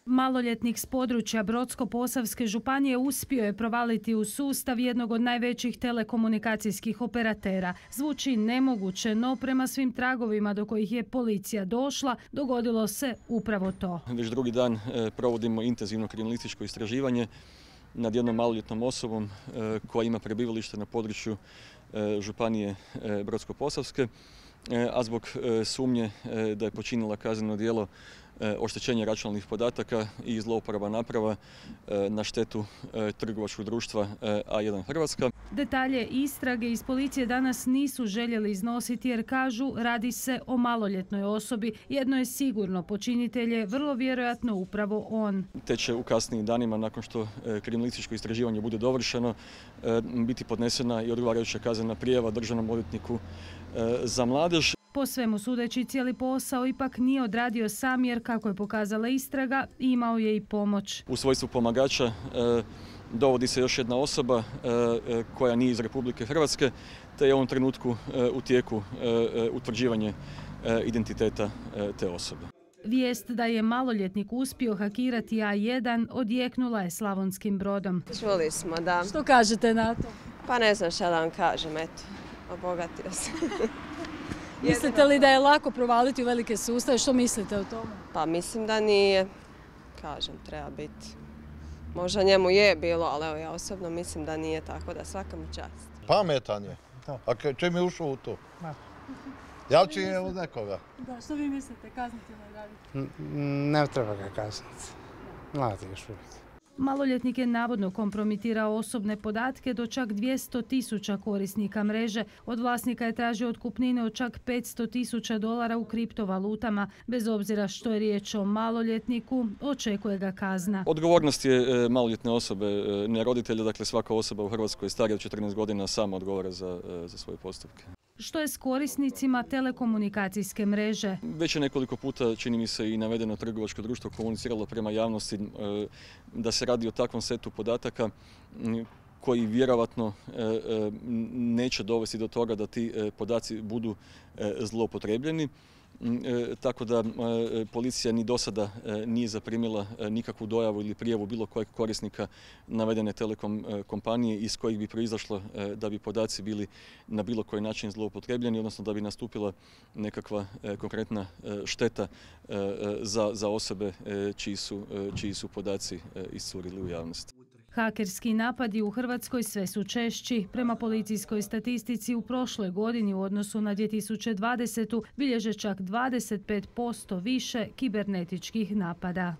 Maloljetnik s područja Brodsko-posavske županije uspio je provaliti u sustav jednog od najvećih telekomunikacijskih operatera. Zvuči nemoguće, no prema svim tragovima do kojih je policija došla, dogodilo se upravo to. Već drugi dan provodimo intenzivno kriminalističko istraživanje nad jednom maloljetnom osobom koja ima prebivalište na području županije Brodsko-posavske, a zbog sumnje da je počinila kazneno djelo oštećenja računalnih podataka i zlouporaba naprava na štetu trgovačkog društva A1 Hrvatska. Detalje istrage iz policije danas nisu željeli iznositi jer kažu radi se o maloljetnoj osobi. Jedno je sigurno, počinitelj je vrlo vjerojatno upravo on. Te će u kasnijim danima, nakon što kriminalističko istraživanje bude dovršeno, biti podnesena i odgovarajuća kaznena prijava državnom odvjetniku za mladež. Po svemu sudeći, cijeli posao ipak nije odradio sam jer, kako je pokazala istraga, imao je i pomoć. U svojstvu pomagača dovodi se još jedna osoba koja nije iz Republike Hrvatske, te je u ovom trenutku u tijeku utvrđivanje identiteta te osobe. Vijest da je maloljetnik uspio hakirati A1 odjeknula je Slavonskim Brodom. Čuli smo, da. Što kažete na to? Pa ne znam šta da vam kažem, eto, obogatio se. Mislite li da je lako provaliti u velike sustave? Što mislite o tome? Pa mislim da nije. Kažem, treba biti. Možda njemu je bilo, ali evo ja osobno mislim da nije, tako da svaka mu čast. Pametan je. A čim je ušao u to? Javči je od nekoga. Da, što vi mislite, kazniti ili raditi? Ne treba ga kazniti. Mladi još uvijek. Maloljetnik je navodno kompromitirao osobne podatke do čak 200.000 korisnika mreže. Od vlasnika je tražio otkupnine od čak $500.000 u kriptovalutama. Bez obzira što je riječ o maloljetniku, očekuje ga kazna. Odgovornost je maloljetne osobe, ne roditelja, dakle svaka osoba u Hrvatskoj starija od 14 godina sama odgovara za svoje postupke. Što je s korisnicima telekomunikacijske mreže? Već je nekoliko puta, čini mi se, i navedeno trgovačko društvo komuniciralo prema javnosti da se radi o takvom setu podataka koji vjerovatno neće dovesti do toga da ti podaci budu zloupotrebljeni. Tako da policija ni do sada nije zaprimila nikakvu dojavu ili prijavu bilo kojeg korisnika navedene telekom kompanije iz kojih bi proizašlo da bi podaci bili na bilo koji način zloupotrebljeni, odnosno da bi nastupila nekakva konkretna šteta za osobe čiji su podaci iscurili u javnost. Hakerski napadi u Hrvatskoj sve su češći. Prema policijskoj statistici u prošloj godini u odnosu na 2020. bilježe čak 25% više kibernetičkih napada.